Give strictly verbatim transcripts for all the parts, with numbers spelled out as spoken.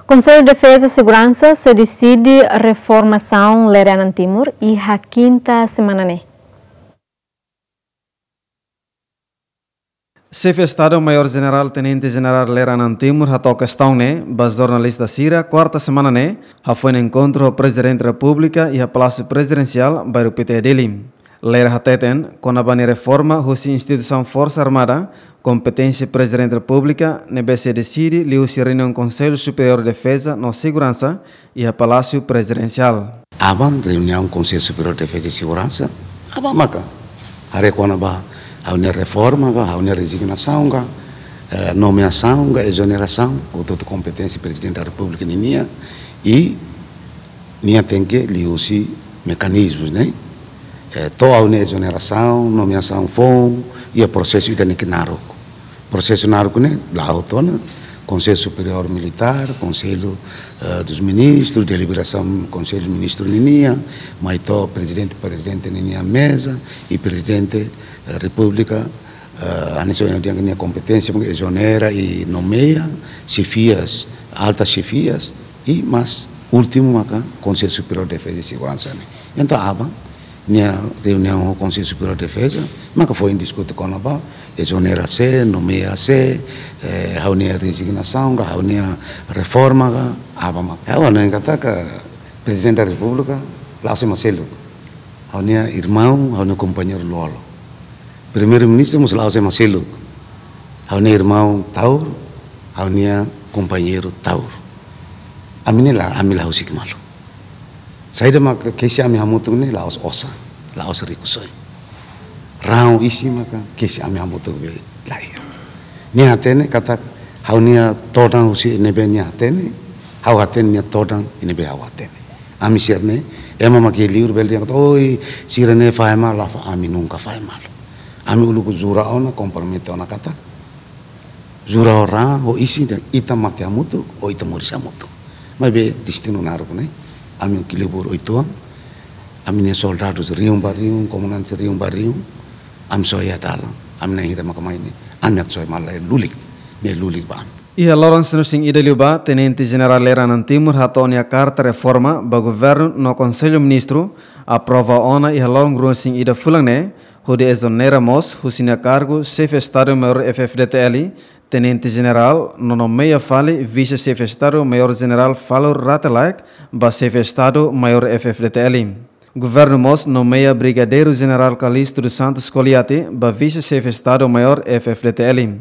Konsellu Defeza Seguransa sei deside reformasaun Lere Anan Timur iha kinta semana ne'e. Xefe Estadu Maiór Jenerál Tenente Jenerál Lere Anan Timur hato'o kestaun ne'e ba jornalista sira kuarta semana ne'e, hafoin enkontru ho Prezidente Repúblika iha Palásiu Prezidensiál, Bairru Pité, Dili. Lere hateten, kona-ba nia reforma husi instituisaun Forsa Armada, kompeténsia Prezidente Repúblika, ne'ebé sei deside liuhusi reuniaun Konsellu Superiór Defeza no Seguransa iha Palásiu Prezidensiál. Aban reuniaun Konsellu Superiór Defeza i Seguransa, aban maka haree kona-ba ha'u-nia reforma ka, ha'u-nia rezignasaun ka, eh, nomeasaun ka, ezonerasaun, hotu-hotu kompeténsia Prezidente da Repúblika ninian, i nia tenke liuhusi mekanizmus ne'e. Eh, to'o ha'u-nia ezonerasaun, nomeasaun foun, iha prosesu ida-ne'e ke naruk. Prosesu naruk ne'e la'o to'o ona Konsellu Superiór Militár, Konsellu, eh, dos Ministrus, deliberasaun Konsellu Ministru ninian, mai to'o Prezidente, Prezidente ninian meza, i Prezidente, eh, Repúblika, eh, hanesan ohin dehan nia kompeténsia, mungkin ezonera i nomeia xefias, altas xefias, i mais últimu maka Konsellu Superiór Defeza i Seguransa ne'e. Entaun, aban nia reuniaun ho Konsellu Superiór Defeza, maka foin diskute kona-ba ezonera sé, nomeia sé, eh, ha'u-nia rezignasaun ka, ha'u-nia reforma ka, aban maka. Ha'u hanoin katak Prezidente da Repúblika la'ós ema seluk. Ha'u-nia irmaun, ha'u-nia kompañeiru lolo. Primeiru-Ministru mós la'ós ema seluk. Ha'u-nia irmaun taur, ha'u-nia kompañeiru taur. Ami ne'e la, ami la husik malu. Saida maka kesi ami hamutuk ne'e la'ós osan, la'ós rikusoin. Raan isin maka kesi ami hamutuk be la iha. Nia hatene katak ha'u-nia todan husi ne'ebé nia hatene, ha'u hatene nia todan ne'ebé ha'u hatene. Ami sira-ne'e, ema mak iha liur bele dehan katak, oi, sira-ne'e fahe malu, la fahe, ami nunka fahe malu. Ami uluk jura ona, kompromete ona katak, jura ho raan, ho isin dehan ita mate hamutuk, ho ita moris hamutuk. Maibé destinu naruk ne'e, ami kilibur oituan, ami-nia soldadus rihun ba rihun, komandante rihun ba rihun, ami soe iha dalan, ami na'in hira maka mai ne'e, ami atu soe malu, lulik, ne'e lulik ba ami. Iha loron sanulu-resin-ida liubá, Tenente Jenerál Lere Anan Timur hato'o nia karta reforma ba Governu no Konsellu Ministru, aprova ona iha loron ruanulu-resin-ida fulan ne'e, hodi ezonera mós husi nia kargu Xefe Estadu Maiór F-FDTL, Tenente Jenerál, no nomeia fali Vise-Xefe Estadu Maiór Jenerál Falur Rate Laek ba Xefe Estadu Maiór F-FDTL. Governu mós nomeia Brigadeiru Jenerál Calixto dos Santos Coliate ba Vise-Xefe Estadu Maiór F-FDTL.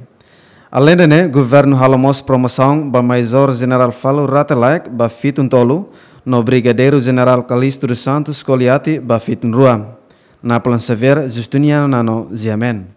Aleinde ne'e, Governu halo mós promosaun ba Majór Jenerál Falur Rate Laek ba fitun tolu, no Brigadeiru Jenerál Calixto dos Santos Coliate ba fitun rua. Napoleon Xavier, Justiniano Nano, G M N.